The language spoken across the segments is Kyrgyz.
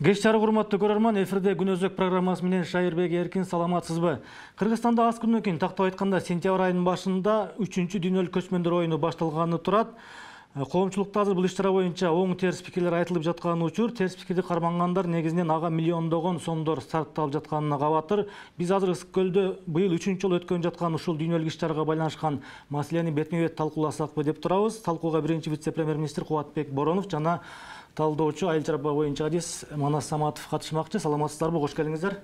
Кеч жарык урматтуу көрөрман, эфирде Күн өзөк программасы менен Шайырбек Эркин, саламатсызбы? Кыргызстанда аз күндөн кийин, тактап айтканда сентябрь айынын башында 3-чү дүйнөлүк көчмөндөр оюну башталганы турат. Коомчулукта азыр бул иш-чара боюнча оң терс пикирлер айтылып жаткан учур. Терс пикирди кармангандар негизинен ага миллиондогон сомдор сарпталып жатканына кабатыр. Биз азыр Ысык көлдө быйыл 3-чү жолу өткөн жаткан ушул дүйнөлүк иш-чарага байланышкан маселени бетме-бет талкууласакпы деп турабыз. Талкууга биринчи вице-премьер-министр Кубатбек Боронов жана талдоочу айыл чарба боюнча адис Манас Саматов катышмакчы. Саламатсыздарбы? Кош келиңиздер.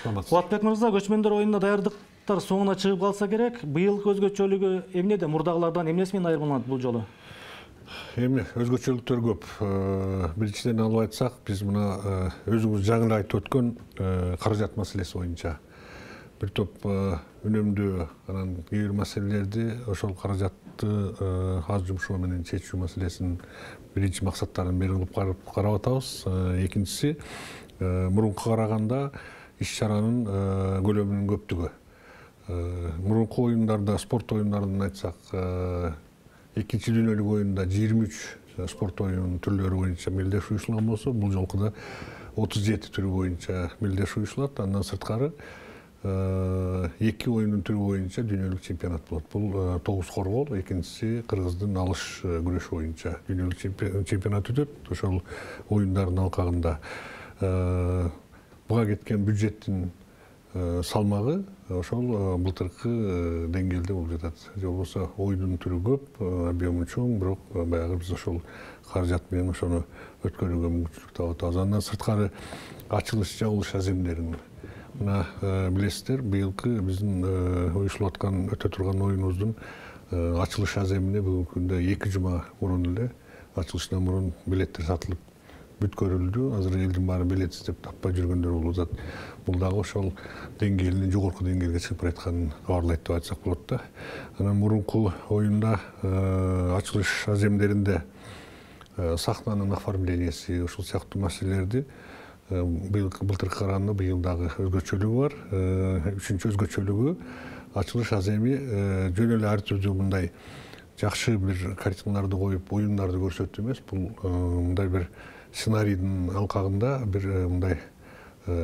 Кубатбек мырза, көчмөндөр оюнуна даярдыктар соңуна чыгып калса керек. Быйылкы өзгөчөлүгү эмнеде? Мурдагылардан эмнеси менен айырмаланат бул жолу? Эми өзгөчөлүктөр көп. Биринчиден алып айтсак, биз мына өзүңүз жаңы айтып өткөн каражат маселеси боюнча бир топ үнөмдүү анан кээ бир маселелерди ошол каражатты аз жумшоо менен чечүү маселесинин биринчи максаттарын бери кылып карап атабыз. Экинчиси, мурункуга караганда иш-чаранын көлөмүнүн көптүгү. Мурунку оюндарда, спорт оюндарынан айтсак, экинчи дүйнөлүк оюнда 23 спорт оюнунун түрлөрү боюнча мелдеш уюшулган болсо, бул жолкуда 37 түрү боюнча мелдеш уюшулат. Андан сырткары 2 оюндун түрү боюнча дүйнөлүк чемпионат болот. Бул тогуз коргоол, экинчиси кыргыздын алыш күрөшү боюнча дүйнөлүк чемпионат өтөт. Ошол оюндардын алкагында буга кеткен бюджеттин салмагы ошол былтыркы деңгээлде болуп жатат. Же болбосо оюндун түрү көп, объему чоң, бирок баягы биз ошол каражат менен ошону өткөрүүгө мүмкүнчүлүк таап атабыз. Андан сырткары ачылыш, жабылыш аземдерин мына билесиздер, быйылкы биздин уюшулуп аткан өтө турган оюнубуздун ачылыш аземине бүгүнкү күндө 2 жума мурун эле ачылышынан мурун билеттер сатылып бүткөрүлдү. Азыр элдин баары билет издеп таппай жүргөндөр болуп атат. Бул дагы ошол деңгээлинин жогорку деңгээлге чыгып баратканын кабарлайт деп айтсак болот да. Анан мурунку оюнда ачылыш аземдеринде сахнанын оформленияси, ушул сыяктуу маселелерди былтыркы караганда быйыл дагы өзгөчөлүгү бар. Үчүнчү өзгөчөлүгү, ачылыш аземи жөн эле ар түрдүү мындай жакшы бир картиналарды коюп, оюндарды көрсөтүү эмес, бул мындай бир сценарийдин алкагында бир мындай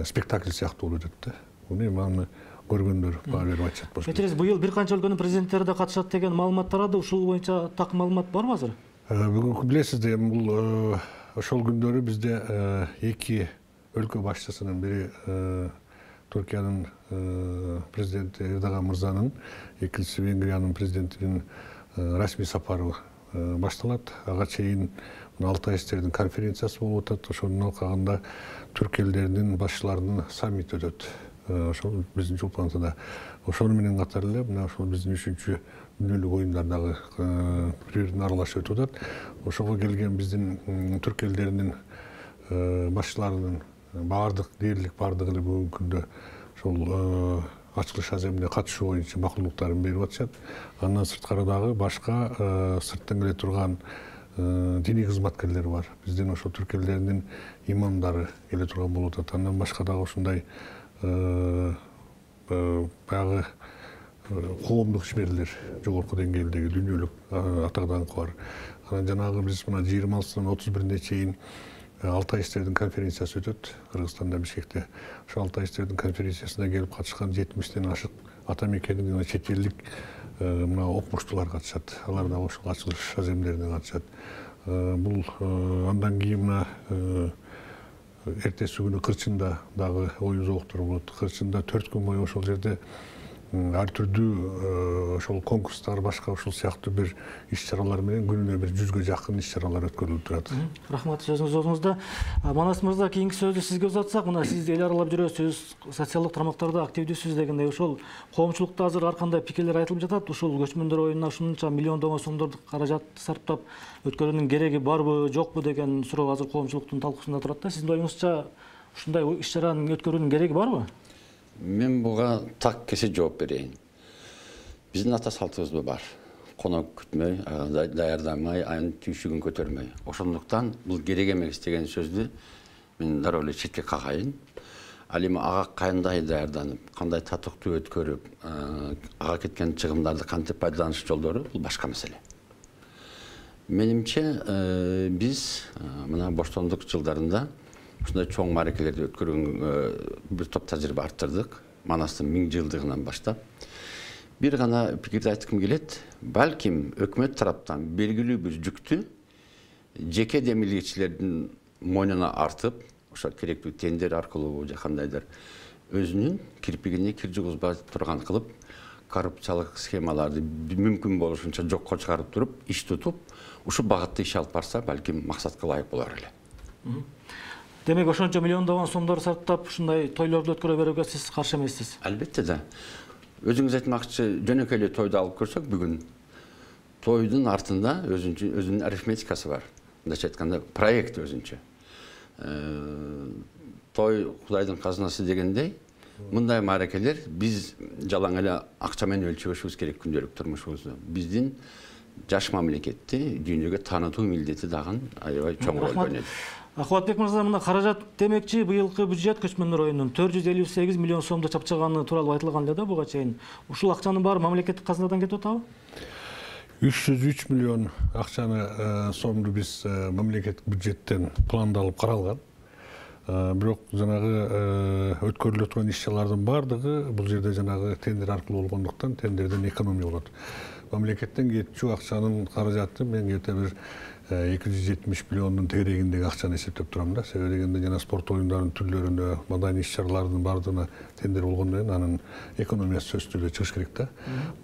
спектакль сыяктуу болуп өтөт да. Муну эми көргөндөр баа берип айтышат болчу. Кетириз, быйыл бир канча өлкөнүн президенттери да катышат деген маалымат тарады. Ушул боюнча так маалымат барбы азыр? Бүгүнкү билесиздер, бул ошол күндөрү бизде 2 өлкө башчысынын бири Түркиянын президенти Эрдоган мырзанын, экинчиси Венгриянын президентинин расмий сапары башталат. Ага чейин Алтай иштердин конференциясы болуп атат. Ошонун алкагында түрк элдеринин башчыларынын саммити өтөт. Ошол биздин Чулпантада. Ошону менен катар эле мына ошол биздин 3-чү дүйнөлүк оюндар дагы бири-бирине аралашып өтүп атат. Ошого келген биздин түрк элдеринин башчыларынын дээрлик баардыгы эле бүгүнкү күндө ошол ачылыш аземине катышуу боюнча макулдуктарын берип атышат. Андан сырткары дагы башка сырттан келе турган диний кызматкерлер бар. Биздин ошол түрк элдеринин имамдары келе турган болуп атат. Андан башка дагы ушундай баягы коомдук ишмерлер, жогорку деңгээлдеги дүйнөлүк атак даңкы бар. Анан жанагы биз мына 26-дан 31-ине чейин Алтай иштердин конференциясы өтөт Кыргызстанда, Бишкекте. Ошол Алтай иштердин конференциясына келип катышкан 70-тен ашык ата мекендик жана чет элдик мына окумуштуулар катышат. Алар да ошол ачылыш аземдерине катышат. Бул андан кийин мына эртеси күнү Кырчында дагы оюн зооктору болот. Кырчында 4 күн бою ошол жерде ар түрдүү ошол конкурстар, башка ошол сыяктуу бир иш-чаралар менен күнүнө бир 100гө жакын иш-чаралар өткөрүлүп турат. Рахмат сөзүңүз ордуңузда. Манас мырза, кийинки сөздү сизге узатсак, мына сиз эл аралап жүрөсүз, социалдык тармактарда активдүүсүз дегендей, ошол коомчулукта азыр ар кандай пикирлер айтылып жатат. Ушул көчмөндөр оюнуна ушунча миллиондогон сомдорду каражат сарптап өткөрүүнүн кереги барбы, жокпу деген суроо азыр коомчулуктун талкуусунда турат да. Сиздин оюңузча ушундай иш-чаранын өткөрүүнүн кереги барбы? Мен буга так кесе жооп берейин. Биздин ата салтыбызда бар. Конок күтмөй, даярдамай, айын түйшүгүн көтөрмөй. Ошондуктан бул керек эмес деген сөздү мен дароо эле четке какайын. Ал эми ага кандай даярданып, кандай татыктуу өткөрүп, ага кеткен чыгымдарды кантип пайдаланыш жолдору бул башка маселе. Менимче биз мына боштондук жылдарында ушундай чоң мааракелерди өткөргөн бир топ тажрыйба арттырдык. Манастын 1000 жылдыгынан баштап. Бир гана пикирди айткым келет. Балким өкмөт тараптан белгилүү бир жүктү жеке демилгечилердин мойнуна артып, ошо керектүү тендер аркылуу же кандайдыр өзүнүн кирпигине кир жугузбай турган кылып, коррупциялык схемаларды мүмкүн болушунча жокко чыгарып туруп, иш тутуп, ушу багытта иш алып барса, балким максатка ылайык болор эле. Демек, ошончо миллиондогон сомдор сарптап, ушундай тойлорду өткөрө берүүгө сиз каршы эмессиз? Албетте да. Өзүңүз айтмакчы, жөнөкөй эле тойду алып көрсөк, бүгүн тойдун артында өзүнүн арифметикасы бар. Мындайча айтканда, проект өзүнчө. Той Кудайдын казынасы дегендей, мындай мааракелер биз жалаң эле акча менен өлчөбөшүбүз керек күндөлүк турмушубузду. Биздин жаш мамлекетти дүйнөгө таанытуу милдети дагы аябай чоң роль ойнойт. Кубатбек мырза, мына каражат демекчи, быйылкы бюджет көчмөндөр оюнунун 458 миллион сомду чапчаганы тууралуу айтылган эле да буга чейин. Ушул акчанын баары мамлекеттик казынадан кетип атабы? 303 миллион акчаны сомду биз мамлекеттик бюджеттен пландалып каралган. Бирок жанагы өткөрүлө турган иш-чаралардын баардыгы бул жерде жанагы тендер аркылуу болгондуктан тендерден экономия болот. Мамлекеттен кетчү акчанын каражаты мен где-то бир 270 миллиондун тегерегиндеги акчаны эсептеп турам да. Себеби дегенде жана спорт оюндарынын түрлөрүнө, маданий иш-чаралардын баардыгына тендер болгондон кийин анын экономиясы сөзсүз түрдө чыгыш керек да.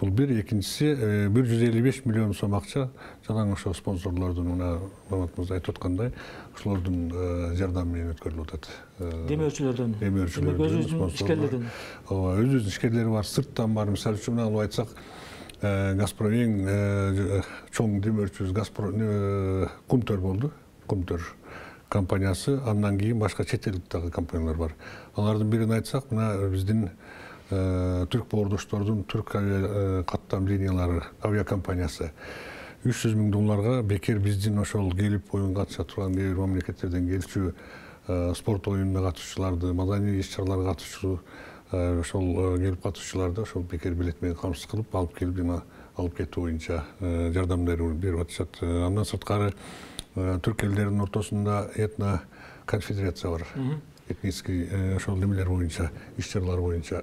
Бул бир, экинчиси 155 миллион сом акча жалаң ошо спонсорлордун, мына Мамат мырза айтып аткандай, ошолордун жардамы менен өткөрүлүп атат. Демөөрчүлөрдөн. Өзүбүздүн ишкерлерден. Ооба, өзүбүздүн ишкерлери бар, сырттан бар. Мисалы үчүн алып айтсак, Газпром эң чоң демөөрчүбүз Кумтөр болду. Кумтөр компаниясы, андан кийин башка чет элдик дагы компаниялар бар. Алардын бирин айтсак, мына биздин түрк боордоштордун түрк каттам линиялары авиакомпаниясы 300 миң долларга бекер биздин ошол келип оюнга катыша турган кээ бир мамлекеттерден келчү спорт оюнуна катышчыларды, маданий иш-чараларга катышчу ошол келип катышчыларды ошол бекер билет менен камсыз кылып алып келип жана алып кетүү боюнча жардамдар берип атышат. Андан сырткары түрк элдеринин ортосунда этно конфедерация бар. Этнический ошол немелер боюнча, иш-чаралар боюнча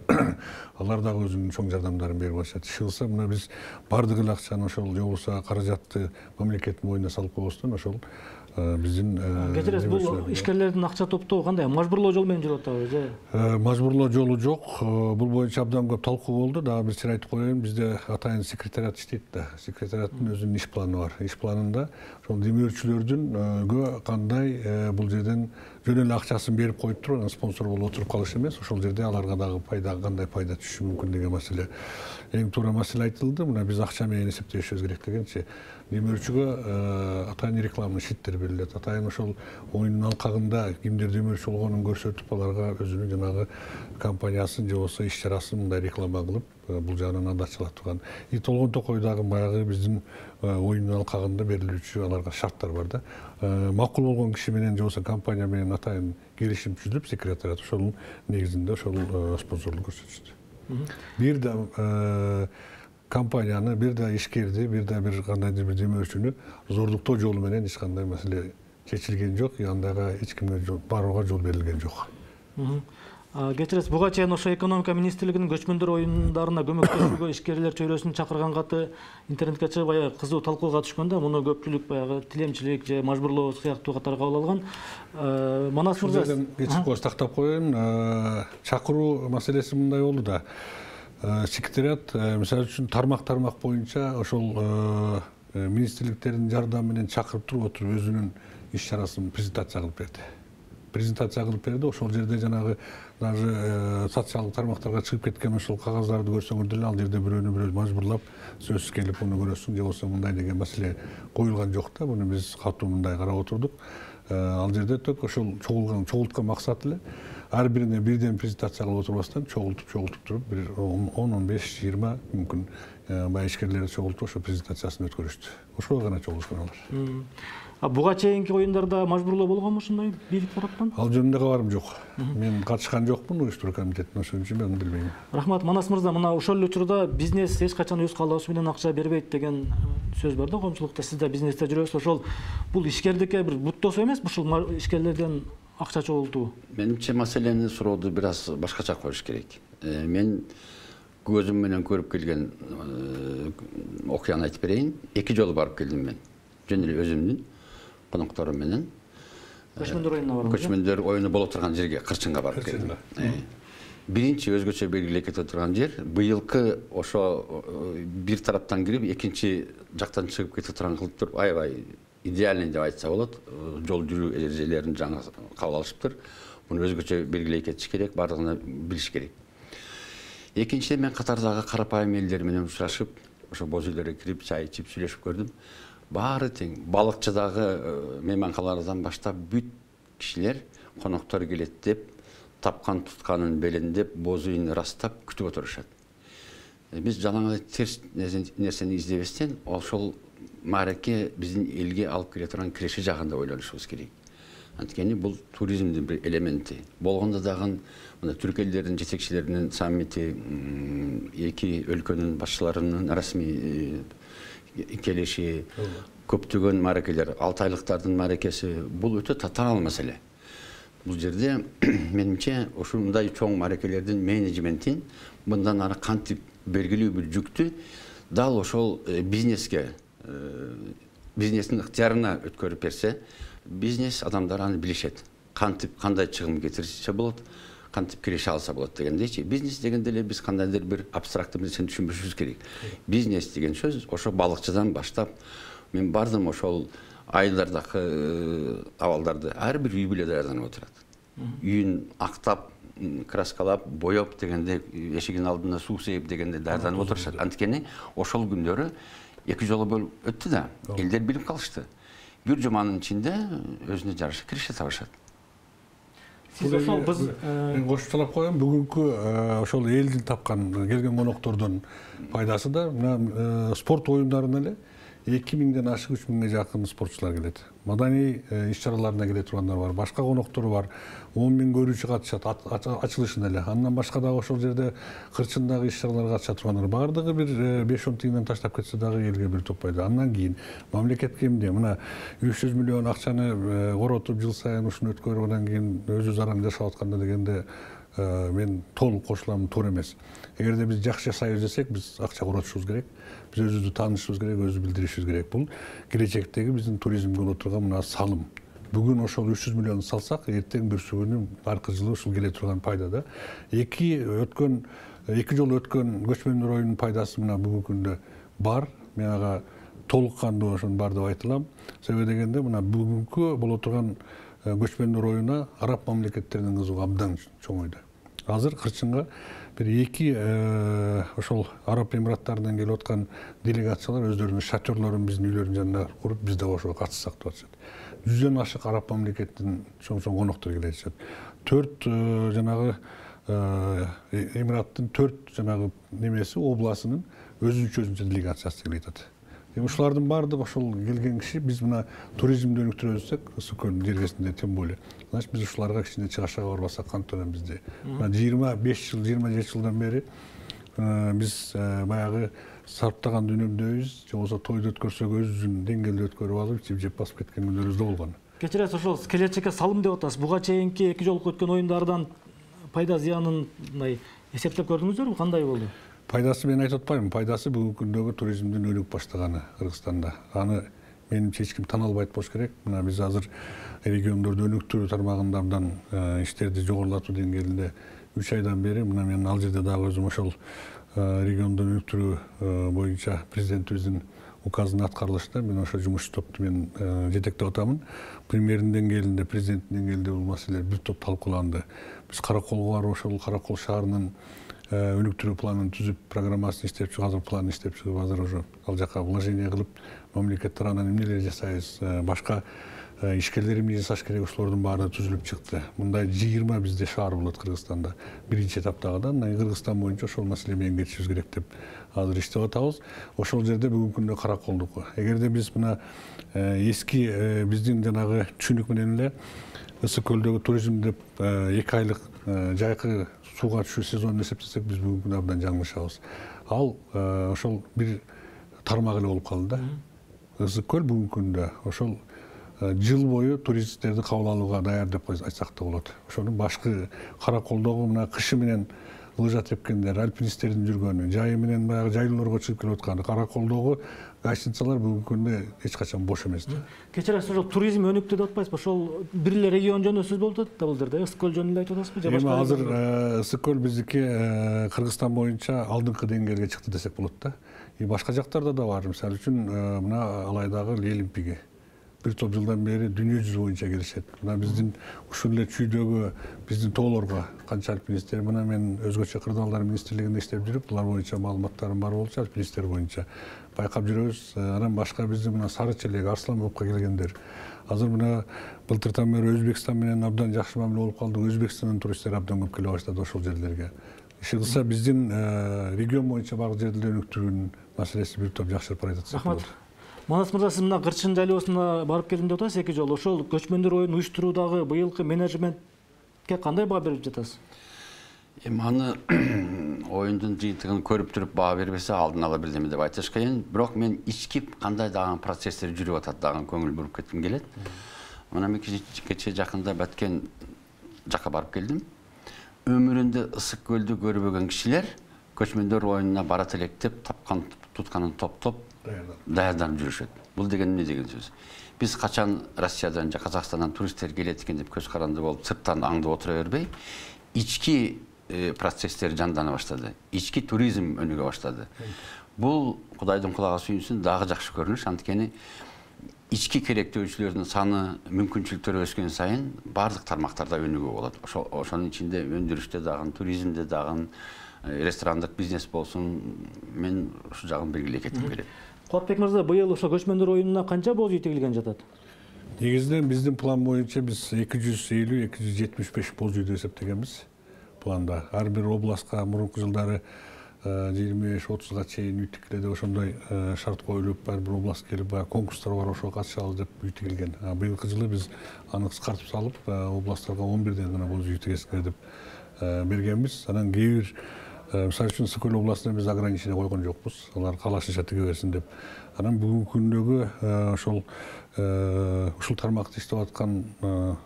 алар дагы өзүнүн чоң жардамдарын берип атышат. Иш кылса, мына биз бардык эле акчаны ошол же болбосо каражатты мамлекеттин мойнуна салып койбостон ошол биздин кечиресиз, бул ишкерлердин акча топтоо кандай? Мажбурлоо жол менен жүрүп атабы же? Мажбурлоо жолу жок. Бул боюнча абдан көп талкуу болду. Дагы бир чир айтып коеюн, бизде атайын секретариат иштейт да. Секретариаттын өзүнүн иш планы бар. Иш планында ошол демөөрчүлөрдүн кандай бул жерден жөн эле акчасын берип коюп туруп, анан спонсор болуп отуруп калыш эмес, ошол жерде аларга дагы кандай пайда түшүшү мүмкүн деген маселе. Эң туура маселе айтылды. Мына биз акча менен эсептешибиз керек дегенчи. Демөөрчүгө атайын рекламный щиттер берилет. Атайын ошол оюндун алкагында кимдер демөөрчү болгонун көрсөтүп, аларга өзүнүн жанагы компаниясын же болбосо иш-чарасын мындай реклама кылып, бул жагынан андачылап турган. И толгон токой дагы баягы биздин оюндун алкагында берилүүчү аларга шарттар бар да. Макул болгон киши менен же болбосо компания менен атайын келишим түзүлүп, секретариат ошонун негизинде ошол спонсорлук көрсөтүшөт. Бир да компанияны, бир да ишкерди, бир да бир кандайдыр бир демөөрчүнү зордуктоо жолу менен эч кандай маселе чечилген жок, андайга эч кимге барууга жол берилген жок. Кечиресиз, буга чейин ошо экономика министрлигинин көчмөндөр оюндарына көмөктөшүүгө ишкерлер чөйрөсүн чакырган каты интернетке чыгып аябай кызуу талкууга түшкөн да. Муну көпчүлүк баягы тилемчилик же мажбурлоо сыяктуу катары кабыл алган. Манас мырза, кечип коюш тактап коеюн. Чакыруу маселеси мындай болду да. Секретариат, мисалы үчүн тармак боюнча ошол министрликтердин жардамы менен чакырып туруп өзүнүн иш-чарасын презентация кылып берди. Ошол жерде жанагы даже социалдык тармактарга чыгып кеткен ошол кагаздарды көрсөңөр деле ал жерде бирөөнү мажбурлап сөзсүз келип муну көрөсүң же болбосо мындай деген маселе коюлган жок да. Муну биз катуу мындай карап отурдук. Ал жерде тök ошол чогулткан максат эле ар бирине бирден презентация кылып отурбастан чогултуп туруп бир 10-15-20 мүмкүн баягы ишкерлерди чогултуп ошо презентациясын өткөрүштү. Ошого гана чогулушкан алар. Буга чейинки оюндарда мажбурлоо болгонбу ушундай бийлик тараптан? Ал жөнүндө кабарым жок. Мен катышкан жокмун уюштуруу комитетине, ошон үчүн мен билбейм. Рахмат, Манас мырза, мына ошол эле учурда бизнес эч качан өз каалоосу менен акча бербейт деген сөз бар да коомчулукта. Сиз да бизнесте жүрөсүз. Ошол бул ишкердикке бир буттоосу эмеспи? Ушул ишкерлерден акча чогултуу? Менимче маселени сурооду бир аз башкача коюш керек. Мен көзүм менен көрүп келген окуяны айтып берейин. 2 жолу барып келдим мен. Жөн эле өзүмдүн конокторум менен. Көчмөндөр оюнуна бардым. Көчмөндөр оюну болуп турган жерге, Кырчынга барып келдим. Биринчи өзгөчө белгилеп кетип турган жер быйылкы ошо бир тараптан кирип, экинчи жактан чыгып кетип турган кылып туруп, аябай идеальный деп айтса болот. Жол жүрүү эрежелерин жаңы кабыл алышыптыр. Муну өзгөчө белгилей кетиш керек, бардыгына билиш керек. Экинчиден мен катардагы карапайым элдер менен учурашып, ошо боз үйлөргө кирип, чай ичип сүйлөшүп көрдүм. Баары тең. Балыкчыдагы мейманкалардан баштап бүт кишилер коноктор келет деп, тапкан тутканын белиндеп, боз үйүн ырастап күтүп отурушат. Биз жалаңай терс нерсени издебестен, ошол маареке биздин элге алып келе турган киреше жагында ойлонушубуз керек. Анткени бул туризмдин бир элементи. Болгондо дагы мына түрк элдеринин жетекчилеринин саммити, эки өлкөнүн башчыларынын расмий келиши, көптөгөн маарекелер, 6 айлыктардын маарекеси, бул өтө татаал маселе. Бул жерде менимче ушундай чоң маарекелердин менеджментин мындан ары кантип белгилүү бир жүктү дал ошол бизнеске, бизнестин ыктыярына өткөрүп берсе, бизнес адамдар аны билишет. Кантип, кандай чыгым кетирсе болот, кантип киреше алса болот дегендейчи. Бизнес дегенде эле биз кандайдыр бир абстрактуу нерсени түшүнбөшүбүз керек. Бизнес деген сөз ошо балыкчыдан баштап мен бардым, ошол айылдардагы абалдарды ар бир үй бүлө даярданып отурат. Үйүн актап, краскалап, боёп дегенде, эшигинин алдына суу сээп дегенде даярданып отурушат. Анткени ошол күндөрү 2 жолу болуп өттү да, элдер билип калышты. Бир жуманын ичинде өзүнө жараша киреше табышат. Сиз ошол мен кошумчалап коем, бүгүнкү ошол элдин тапкан келген коноктордун пайдасы да мына спорт оюндарына эле 2000ден ашык 3000ге жакын спортчулар келет. Маданий иш-чараларына келе тургандар бар, башка коноктору бар. 10 000 көрүүчү катышат ачылышына эле. Андан башка дагы ошол жерде Кырчындагы иш-чараларга катыша тургандар бардыгы бир 5-10 тиңден таштап кетсе дагы элге бир топпойт. Андан кийин мамлекетке эмне? Мына 300 миллион акчаны коротуп жыл сайын ушуну өткөрүп, андан кийин өзү заран жашап атканда дегенде мен толук кошулам, туура эмес. Эгерде биз жакшы жашайбыз десек, биз акча коротушубуз керек. Биз өзүбүздү таанышыбыз керек, өзүбүздү билдиришибиз керек. Бул келечектеги биздин туризмге боло турган мына салым. Бүгүн ошол 300 миллион салсак, эртең бүрсү күнү аркы жылы ушул келе турган пайда да. 2 жолу өткөн көчмөндөр оюнунун пайдасы мына бүгүнкү күндө бар. Мен ага толук кандуу ошонун бар деп айта алам. Себеби дегенде мына бүгүнкү боло турган көчмөндөр оюна араб мамлекеттеринин кызыгуу абдан чоңойду. Азыр Кырчынга бир 2 ошол Араб Эмираттарынан келип аткан делегациялар өздөрүнүн шатерлорун биздин үйлөрдүн жанына куруп, биз да ошого катышсак деп атышат. 100дөн ашык араб мамлекетинин чоң коноктор келишет. 4 жанагы Эмираттын 4 жанагы немеси обласынын өзүнчө делегациясы келип атат. Ушулардын баардыгы ошол келген киши, биз мына туризмди өнүктүрөбүзсек, Ысыкөлдүн жергесинде тем более. Значит, биз ушуларга кичине чыгашага барбасак кантип элем бизде. 25 жыл, 27 жылдан бери биз баягы сарптаган дүйнөмдөбүз, же болбосо тойду өткөрсөк өзүбүздүн деңгээлде өткөрүп алып, ичип жеп басып кеткен күндөрүбүз да болгон. Кечиресиз, ошол келечекке салым деп атасыз. Буга чейинки 2 жолку өткөн оюндардан пайда зыянын мындай эсептеп көрдүңүздөрбү? Кандай болду? Пайдасы мен айтып атпайбын. Пайдасы бүгүнкү күндөгү туризмдин өнүгүп баштаганы Кыргызстанда. Аны менимче эч ким тана албайт болуш керек. Мына биз азыр региондорду өнүктүрүү тармагында абдан иштерди жогорулатуу деңгээлинде 3 айдан бери мына мен ал жерде дагы өзүм ошол регионду өнүктүрүү боюнча президентибиздин указынын аткарылышында мен ошо жумуш топту мен жетектеп атамын. Премьердин деңгээлинде, президенттин деңгээлинде бул маселелер бир топ талкууланды. Биз Караколго барып ошол Каракол шаарынын өнүктүрүү планын түзүп, программасын иштеп чыгып, азыр планын иштеп чыгып, азыр уже ал жака вложение кылып, мамлекет тарабынан эмнелер жасайбыз, башка ишкерлер эмне жасаш керек, ошолордун баары түзүлүп чыкты. Мындай 20 бизде шаар болот Кыргызстанда. Биринчи этаптагы да, мына Кыргызстан боюнча ошол маселе менен кетишибиз керек деп азыр иштеп атабыз. Ошол жерде бүгүнкү күндө Караколдуку. Эгерде биз мына эски биздин жанагы түшүнүк менен эле Ысыкөлдөгү туризм деп 2 айлык жайкы сууга түшүү сезонун эсептесек, биз бүгүнкү күндө абдан жаңылышабыз. Ал ошол бир тармак эле болуп калды да. Ысыкөл бүгүнкү күндө ошол жыл бою туристтерди кабыл алууга даяр деп айтсак да болот. Ошонун башкы Караколдогу мына кышы менен лыжа тепкендер, альпинисттердин жүргөнү, жайы менен баягы жайлоорго чыгып келип аткан Караколдогу гостиницалар бүгүнкү күндө эч качан бош эмес да. Кечиресиз, ошол туризм өнүктү деп атпайсызбы? Ошол бир эле регион жөнүндө сөз болуп атат да бул жерде. Ысык көл жөнүндө айтып атасызбы же башка? Эми азыр Ысык көл биздики Кыргызстан боюнча алдыңкы деңгээлге чыкты десек болот да. Башка жактарда да бар. Мисалы үчүн мына Алайдагы Лелимпиге бир топ жылдан бери дүйнө жүзү боюнча келишет. Мына биздин ушул эле чүйдөгү биздин тоолорго канча альпинисттер, мына мен өзгөчө кырдаалдар министрлигинде иштеп жүрүп, булар боюнча маалыматтарым бар болчу, альпинисттер боюнча байкап жүрөбүз. Анан башка биздин мына Сары Челек, Арсланбекке келгендер. Азыр мына былтыртан бери Өзбекстан менен абдан жакшы мамиле болуп калды. Өзбекстандан туристтер абдан көп келе баштады ошол жерлерге. Иши кылса биздин регион боюнча баары жерде өнүктүрүүнүн маселеси бир топ жакшырып баратат. Рахмат. Манас мырза, сиз мына Кырчын жайлоосуна барып келдим деп атасыз 2 жолу. Ошол көчмөндөр оюнун уюштуруудагы быйылкы менеджментке кандай баа берип жатасыз? Эми аны оюндун жыйынтыгын көрүп туруп баа бербесе алдын ала бирдеме деп айтыш кыйын. Бирок мен ички кандай дагы процесстер жүрүп атат дагы көңүл буруп кетким келет. Мына мен кече жакында Баткен жакка барып келдим. Өмүрүндө Ысык көлдү көрбөгөн кишилер көчмөндөр оюнуна барат элек деп тапкан тутканын топтоп даярданып жүрүшөт. Бул деген эмне деген сөз? Биз качан Россиядан же Казакстандан туристтер келет экен деп көз каранды болуп сырттан аңдып отура бербей, ички процесстер жандана баштады. Ички туризм өнүгө баштады. Бул Кудайдын кулагы сүйүнсүн дагы жакшы көрүнүш. Анткени ички керектөөчүлөрдүн саны, мүмкүнчүлүктөрү өскөн сайын бардык тармактарда өнүгүү болот. Ошонун ичинде өндүрүштө дагы, туризмде дагы, ресторандык бизнес болсун, мен ушу жагын белгилей кетким келет. Кубатбек мырза, быйыл ошо көчмөндөр оюнуна канча боз үй тигилген жатат? Негизинен биздин план боюнча биз 250-275 боз үйдү эсептегенбиз планда. Ар бир областка мурунку жылдары 25-30га чейин үй тигилди, ошондой шарт коюлуп, ар бир област келип конкурстар бар, ошого катышалы деп үй тигилген. Быйылкы жылы биз аны кыскартып салып, областтарга 11ден гана боз үй тигесиңер деп бергенбиз. Анан кээ бир мисалы үчүн Ысык көл областына биз ограничение койгон жокпуз. Алар каалашынча тиге берсин деп. Анан бүгүнкү күндөгү ушул тармакта иштеп аткан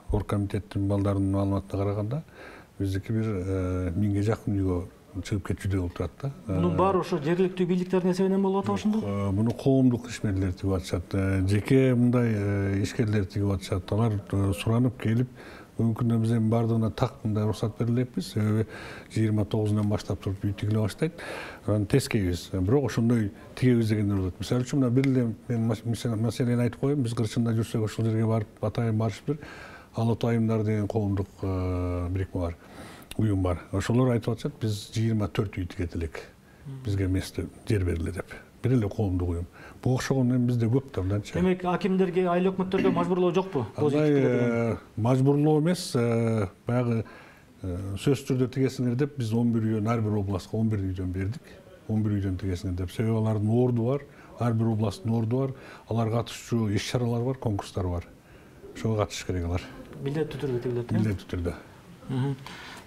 оргкомитеттин балдарынын маалыматына караганда биздики бир 1000ге жакын үйгө чыгып кетчүдөй болуп турат да. Мунун баары ошо жергиликтүү бийликтердин эсебинен болуп атат ошондо? Муну коомдук ишмерлер тигип атышат. Жеке мындай ишкерлер тигип атышат. Алар суранып келип, бүгүнкү күндө биз эми бардыгына так мындай уруксат бере элекпиз. Себеби 29-унан баштап туруп үй тигиле баштайт. Анан тескейбиз. Бирок ошондой тигебиз дегендер болот. Мисалы үчүн мына бир эле мен маселени айтып коеюн. Биз Кырчында жүрсөк ошол жерге барып атайын барышыптыр. Алат айымдар деген коомдук бирикме бар. Уюм бар. Ошолор айтып атышат, биз 24 үй тигет элек. Бизге место жер бериле деп. Бир эле коомдук уюм. Буга окшогон эми бизде көп да мынданча. Демек, акимдерге, айыл өкмөттөргө мажбурлоо жокпу? Мажбурлоо эмес, баягы сөзсүз түрдө тигесиңер деп биз 11 үйдөн ар бир областка 11 үйдөн бердик. 11 үйдөн тигесиңер деп. Себеби алардын орду бар, ар бир областтын орду бар, алар катышчу иш-чаралар бар, конкурстар бар. Ошого катышыш керек алар. Милдеттүү түрдө тигилет. Милдеттүү түрдө.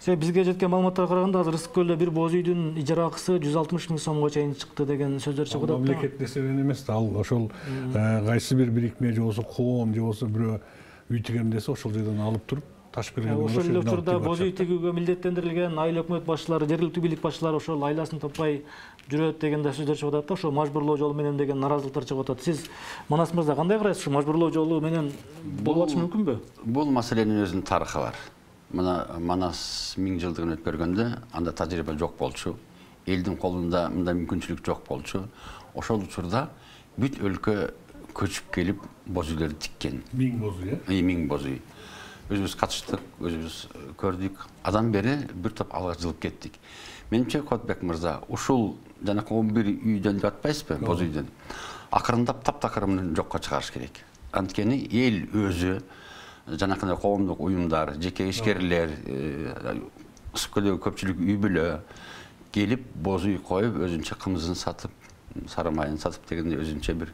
Бизге жеткен маалыматтарга караганда азыр Ысык көлдө бир боз үйдүн ижара акысы 160 000 сомго чейин чыкты деген сөздөр чыгып атат. Мамлекет эсебинен эмес да, ал ошол кайсы бир бирикме же болбосо коом же болбосо бирөө үй тигем десе ошол жерден алып туруп ташып келген. Ошол эле учурда боз үй тигүүгө милдеттендирилген айыл өкмөт башчылары, жергиликтүү бийлик башчылары ошол айласын таппай жүрөт деген да сөздөр чыгып атат да, ошо мажбурлоо жолу менен деген наразылыктар чыгып атат. Сиз Манас мырза кандай карайсыз? Ушу мажбурлоо жолу менен болуп атышы мүмкүнбү? Бул маселенин өзүнүн тарыхы бар. Мына Манас 1000 жылдыгын өткөргөндө анда тажрыйба жок болчу. Элдин колунда мындай мүмкүнчүлүк жок болчу. Ошол учурда бүт өлкө көчүп келип боз үйлөрдү тиккен. 1000 боз үй, 1000 боз үй. Өзүбүз катыштык, өзүбүз көрдүк. Адан бери бир топ алга жылып кеттик. Менимче Кубатбек мырза, ушул жанакы 11 үйдөн деп атпайсызбы, боз үйдөн. Акырындап таптакырымын жокко чыгарыш керек. Анткени эл өзү жанакындай коомдук уюмдар, жеке ишкерлер, Ысык көлдөгү көпчүлүк үй бүлө келип боз үй коюп, өзүнчө кымызын сатып, сары майын сатып дегенде өзүнчө бир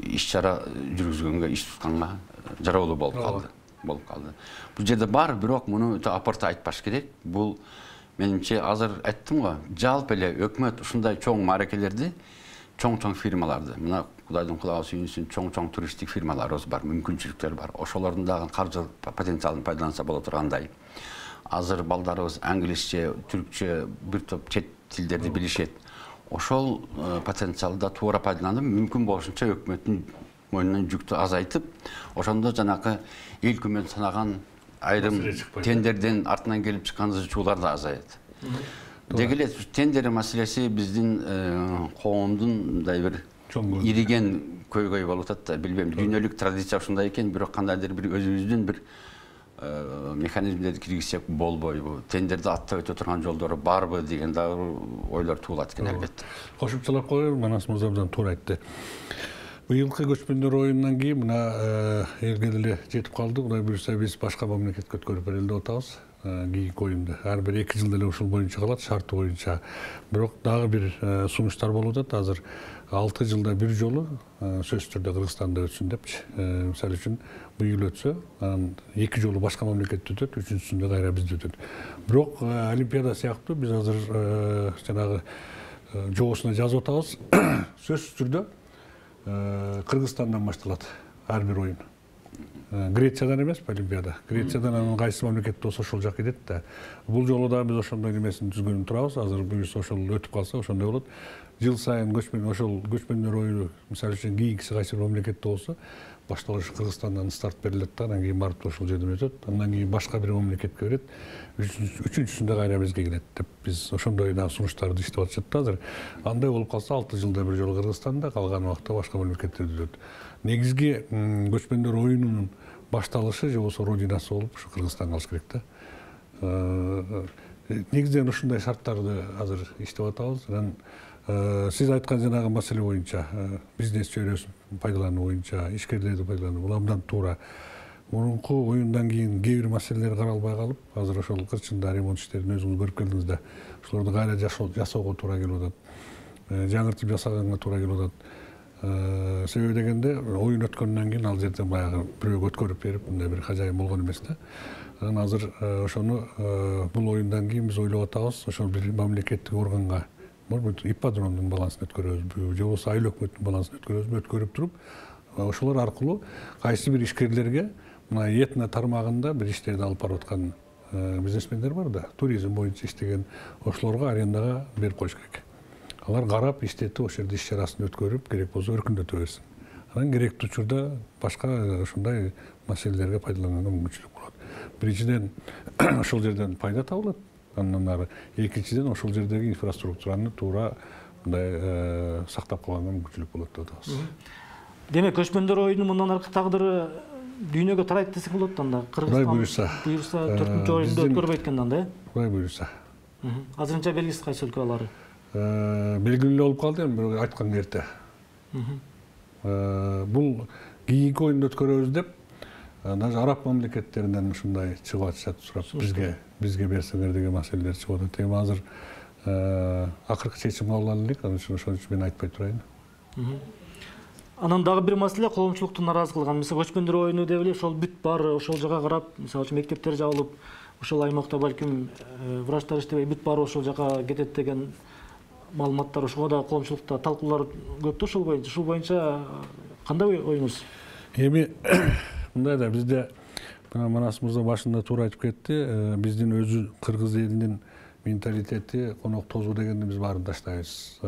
иш-чара жүргүзгөнгө, иш тутканга жаралуу болуп калды. Бул жерде бар, бирок муну өтө апарта айтпаш керек. Бул менимче азыр айттым го, жалпы эле өкмөт ушундай чоң мааракелерди, чоң фирмаларды, мына Кудайдын кулаасы үйүнсүн чоң туристтик фирмаларыбыз бар, мүмкүнчүлүктөр бар. Ошолордун дагы каржы потенциалын пайдаланса боло тургандай. Азыр балдарыбыз англисче, түркчө, бир топ чет тилдерди билишет. Ошол потенциалда туура пайдаланып, мүмкүн болушунча өкмөттүн мойнунан жүктү азайтып, ошондо жанакы эл күмөн санаган айрым тендерден артынан келип чыккан зычуулар да азаят. Деги эле тендер маселеси биздин коомдун мындай бир ириген көйгөй болуп атат да, билбейм, дүйнөлүк традиция ушундай экен, бирок кандайдыр бир өзүбүздүн бир механизмдерди киргизсек болбойбу, тендерди аттап өтө турган жолдору барбы деген дагы ойлор туулат экен албетте. Кошумчалап коеюн, Манас мырза абдан туура айтты. Быйылкы көчмөндөр оюнунан кийин мына элге деле жетип калды. Кудай буюрса биз башка мамлекетке өткөрүп берели деп атабыз. Кийинки оюнду ар бир 2 жылда эле ушул боюнча калат, шарты боюнча. Бирок дагы бир сунуштар болуп атат. Азыр 6 жылда бир жолу сөзсүз түрдө Кыргызстанда өтсүн депчи. Мисалы үчүн быйыл өтсө, анан 2 жолу башка мамлекетте өтөт, үчүнчүсүндө кайра бизде өтөт. Бирок Олимпиада сыяктуу биз азыр жанагы жобосуна жазып атабыз. Сөзсүз түрдө Кыргызстандан башталат ар бир оюн. Грециядан эмес Олимпиада. Грециядан анан кайсы мамлекет болсо ошол жак кетет да. Бул жолу да биз ошондой немесин түзгөнүн турабыз. Азыр буюрса ошол өтүп калса ошондой болот. Жыл сайын көчмөндөр оюну, мисалы үчүн кийинкиси кайсы бир мамлекетте болсо, башталышы Кыргызстандан старт берилет да, анан кийин барып ошол жерден өтөт. Андан кийин башка бир мамлекетке берет. Үчүнчүсүндө кайра бизге келет деп биз ошондой сунуштарды иштеп атышат да азыр. Андай болуп калса 6 жылда бир жолу Кыргызстанда, калган убакта башка мамлекеттерде өтөт. Негизги көчмөндөр оюнунун башталышы же болбосо родинасы болуп ушу Кыргызстан калыш керек да. Негизинен ушундай шарттарды азыр иштеп атабыз. Анан сиз айткан жанагы маселе боюнча, бизнес чөйрөсүн пайдалануу боюнча, ишкерлерди пайдалануу, бул абдан туура. Мурунку оюндан кийин кээ бир маселелер каралбай калып, азыр ошол кырчында ремонт иштерин өзүңүз көрүп келдиңиз да. Ошолорду кайра жасоого туура келип атат. Жаңыртып жасаганга туура келип атат. Себеби дегенде оюн өткөндөн кийин ал жерде баягы бирөөгө өткөрүп берип, мындай бир хажайын болгон эмес да. Анан азыр ошону бул оюндан кийин биз ойлоп атабыз, ошол бир мамлекеттик органга, может быть, ипподромдун балансын өткөрөбүзбү, же болбосо айыл өкмөттүн балансын өткөрүп туруп, ошолор аркылуу кайсы бир ишкерлерге мына этно тармагында бир иштерди алып барып аткан бизнесмендер бар да, туризм боюнча иштеген, ошолорго арендага берип коюш керек. Алар карап, иштетип, ошол жерде иш чарасын өткөрүп, керек болсо өркүндөтө берсин. Анан керектүү учурда башка ушундай маселелерге пайдаланганга мүмкүнчүлүк болот. Биринчиден, ошол жерден пайда табылат. Андан ары экинчиден ошол жердеги инфраструктураны туура мындай сактап калганга мүмкүнчүлүк болот деп атабыз. Демек, көчмөндөр оюну мындан аркы тагдыры дүйнөгө тарайт десек болот анда. Кудай буюрса. 4-чү оюнду өткөрбөйт экен анда, Кудай буюрса. Азырынча белгисиз кайсы өлкө алары. Белгилүү болуп калды, эми бирок айткан эрте. Бул кийинки оюнду өткөрөбүз деп, даже араб мамлекеттеринен ушундай чыгып атышат, сурап бизге берсеңер деген маселелер чыгып атат. Эми азыр акыркы чечим кабыл алынды, ошон үчүн мен айтпай турайын. Анан дагы бир маселе коомчулукту нааразы кылган. Мисалы көчмөндөр оюну деп эле ошол бүт бар, ошол жака карап, мисалы үчүн мектептер жабылып, ошол аймакта балким врачтар иштебей бүт баары ошол жака кетет деген маалыматтар, ошого да коомчулукта талкуулар көп да ошол боюнча. Ушул боюнча кандай оюңуз? Эми мындай да бизде Манас мырза башында туура айтып кетти, биздин өзү кыргыз элинин менталитети конок тозуу дегенди биз баарын таштайбыз.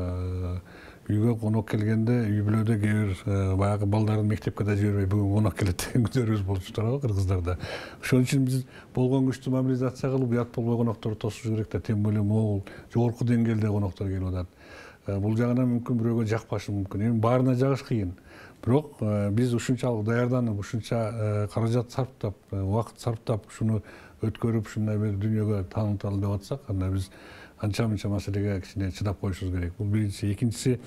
Үйгө конок келгенде үй бүлөдө кээ бир баягы балдарын мектепке да жибербей бүгүн конок келет деген күндөрүбүз болчу турабы кыргыздарда. Ошон үчүн биз болгон күчтү мобилизация кылып, уят болбой конокторду тосуш керек да, тем более могул жогорку деңгээлде коноктор келип атат. Бул жагынан мүмкүн бирөөгө жакпашы мүмкүн. Эми баарына жагыш кыйын. Бирок биз ушунчалык даярданып, ушунча каражат сарптап, убакыт сарптап, ушуну өткөрүп, ушундай бир дүйнөгө тааныталы деп атсак, анда биз анча-мынча маселеге кичине чыдап коюшубуз керек. Бул биринчи. Экинчиси,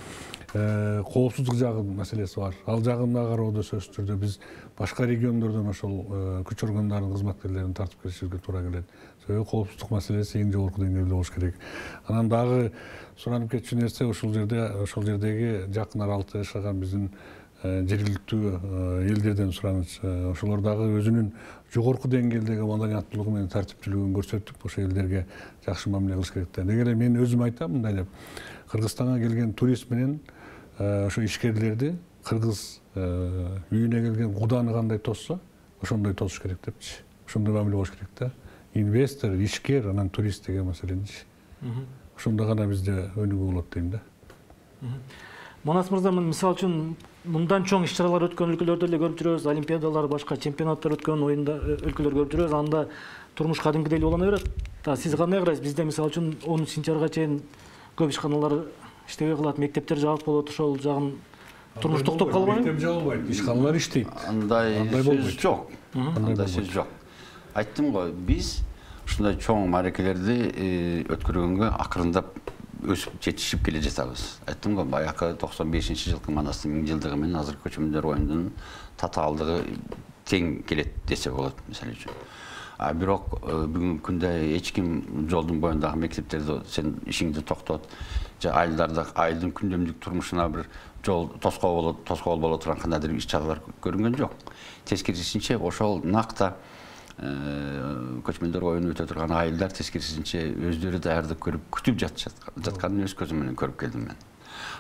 коопсуздук жагынын маселеси бар. Ал жагын да кароодо сөзсүз түрдө биз башка региондордон ошол күч органдарынын кызматкерлерин тартып келишибизге туура келет. Себеби коопсуздук маселеси эң жогорку деңгээлде болуш керек. Анан дагы суранып кетчү нерсе ошол жердеги жакын аралыкта жашаган биздин жергиликтүү элдерден сураныч. Ошолор дагы өзүнүн жогорку деңгээлдеги маданияттуулугу менен тартиптүүлүгүн көрсөтүп, ошол элдерге жакшы мамиле кылыш керек да. Деги эле мен өзүм айтам мындай деп, Кыргызстанга келген турист менен ошо ишкерлерди кыргыз үйүнө келген куданы кандай тосса, ошондой тосуш керек депчи. Ошондой мамиле болуш керек да. Инвестор, ишкер, анан турист деген маселенчи. Ошондо гана бизде өнүгүү болот дейм да. Манас мырза, мисалы үчүн мындан чоң иш-чаралар өткөн өлкөлөрдө эле көрүп жүрөбүз, олимпиадалар, башка чемпионаттар өткөн өлкөлөр көрүп жүрөбүз. Анда турмуш кадимкидей эле улана берет. Сиз кандай карайсыз? Бизде мисалы үчүн 10 сентябрга чейин көп ишканалар иштебей калат, мектептер жабык болот, ошол жагын турмуш токтоп калбайбы? Мектеп жабылбайт, ишканалар иштейт. Андай сөз жок. Андай сөз жок. Айттым го, биз ушундай чоң мааракелерди өткөргөнгө акырындап өсүп жетишип келе жатабыз. Айттым го, баягы 95-жылкы Манастын 1000-жылдыгы менен азыркы көчмөндөр оюнунун татаалдыгы тең келет десе болот, мисалы үчүн. Бирок бүгүнкү күндө эч ким жолдун боюндагы мектептерди сен ишиңди токтот, же айылдын күндөмдүк турмушуна бир жол тоскоол боло турган кандайдыр иш-чаралар көрүнгөн жок. Тескерисинче ошол накта көчмөндөр оюну өтө турган айылдар тескерисинче өздөрү даярдык көрүп күтүп жатканын өз көзүм менен көрүп келдим мен.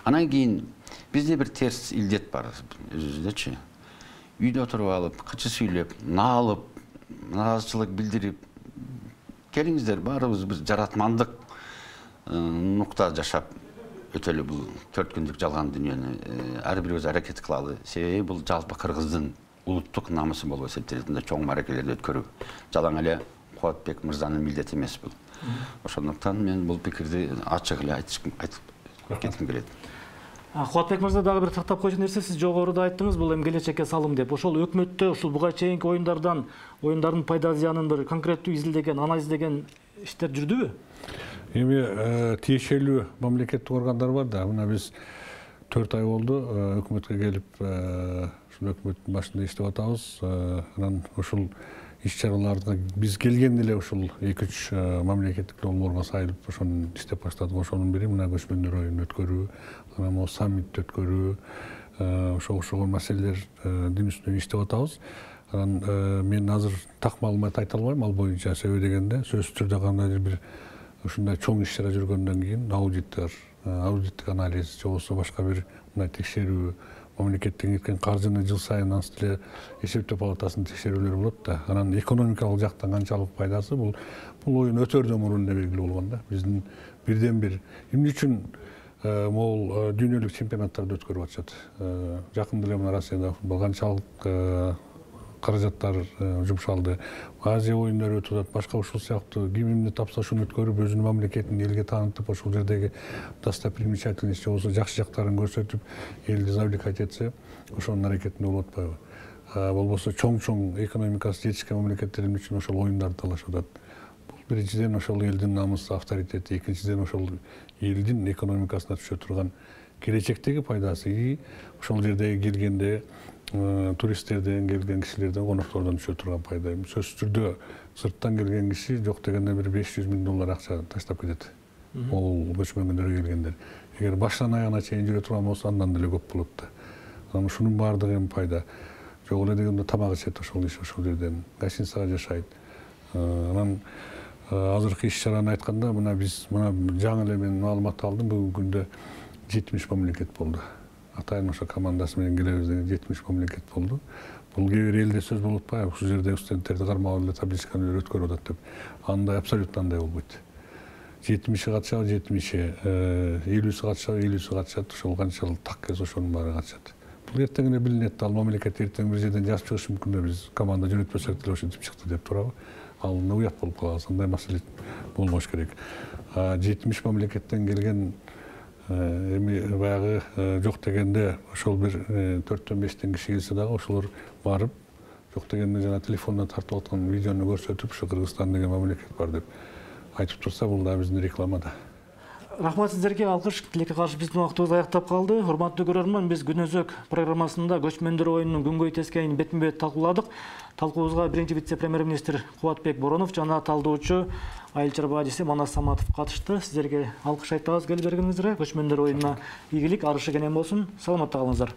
Анан кийин бизде бир терс илдет бар өзүбүздөчү. Үйдө отуруп алып, кычы сүйлөп, наалып, наразычылык билдирип, келиңиздер баарыбыз биз жаратмандык нукта жашап өтөлү бул 4 күндүк жалган дүйнөнү ар бирибиз аракет кылалы. Себеби бул жалпы кыргыздын улуттук намысы болуп эсептелет. Чоң мааракелерди өткөрүү жалаң эле Кубатбек мырзанын милдети эмес бул. Ошондуктан мен бул пикирди ачык эле айтып кетким келет. Кубатбек мырза, дагы бир тактап койчу нерсе, сиз жогоруда айттыңыз, бул эми келечекке салым деп. Ошол өкмөттө ушул буга чейинки оюндардын пайда зыянын бир конкреттүү изилдеген, анализдеген иштер жүрдүбү? Эми тиешелүү мамлекеттик органдар бар да. Мына биз 4 ай болду өкмөткө келип, ушул өкмөттүн башында иштеп атабыз. Анан ушул иш-чараларга биз келгенде эле ушул 2-3 мамлекеттик долбоорго сайылып ошону иштеп баштадык. Ошонун бири мына көчмөндөр оюнун өткөрүү, анан могу саммит өткөрүү, ошого маселелердин үстүнөн иштеп атабыз. Анан мен азыр так маалымат айта албайм ал боюнча, себеби дегенде сөзсүз түрдө кандайдыр бир ушундай чоң иш-чара жүргөндөн кийин аудиттик анализ же болбосо башка бир мындай текшерүү, мамлекеттен кеткен каржыны жыл сайын ансыз эле эсептөө палатасынын текшерүүлөрү болот да. Анан экономикалык жактан канчалык пайдасы бул оюн өтөрдөн мурун эле белгилүү болгон да. Биздин бирден бир эмне үчүн могул дүйнөлүк чемпионаттарды өткөрүп атышат. Жакында эле мына Россияда канчалык каражаттар жумшалды. Азия оюндары өтүп атат, башка ушул сыяктуу ким эмне тапса ошону өткөрүп, өзүнүн мамлекетин элге таанытып, ошол жердеги достопримечательность же болбосо жакшы жактарын көрсөтүп, элди завлекать этсе, ошонун аракетинде болуп атпайбы? Болбосо чоң экономикасы жетишкен мамлекеттер эмне үчүн ошол оюндарды талашып атат? Бул биринчиден ошол элдин намысы, авторитети, экинчиден ошол элдин экономикасына түшө турган келечектеги пайдасы, ошол жердеги келгенде туристтерден, келген кишилерден, коноктордон түшө турган пайда. Сөзсүз түрдө сырттан келген киши жок дегенде бир $500 000 акча таштап кетет. Могул көчмөнгөндөргө келгендер. Эгер баштан аягына чейин жүрө турган болсо, андан деле көп болот да. Анан ушунун баардыгы эми пайда. Жок эле дегенде тамак ичет ошол киши, ошол жерден гостиницага жашайт. Анан азыркы иш-чараны айтканда, мына биз жаңы эле мен маалымат алдым, бүгүнкү күндө 70 мамлекет болду. Атайын ошо командасы менен келебиз деген 70 мамлекет болду. Бул кээ бир элде сөз болуп атпайбы, ушул жерде студенттерди кармап эле табличканы өткөрүп атат деп. Андай абсолютно андай болбойт. 70-и катышабы, 70-и, 50-сі катышабы, 50-сі катышат, ошол канчалык так келсе ошонун баары катышат. Бул эртең эле билинет, ал мамлекет эртең бир жерден жазып чыгышы мүмкүн да, биз команда жөнөтпөсөк деле ошентип чыкты деп турабы. Ал уят болуп калабыз, андай маселе болбош керек. 70 мамлекеттен келген эми баягы жок дегенде ошол бир 4-5 киши келсе дагы ошолор барып жок дегенде жана телефондон тартып аткан видеону көрсөтүп, ушу Кыргызстан деген мамлекет бар деп айтып турса, бул да биздин реклама да. Рахмат сиздерге, алкыш. Тилекке каршы биздин убактыбыз аяктап калды. Урматтуу көрөрман, биз Күнөзөк программасында көчмөндөр оюнунун күнгөй тескейин бетме-бет талкууладык. Талкуубузга биринчи вице-премьер-министр Кубатбек Боронов жана талдоочу айыл чарба ажиси Манас Саматов катышты. Сиздерге алкыш айтабыз келип бергениңизге. Көчмөндөр оюнуна ийгилик, арышы кенен болсун. Саламатта калыңыздар.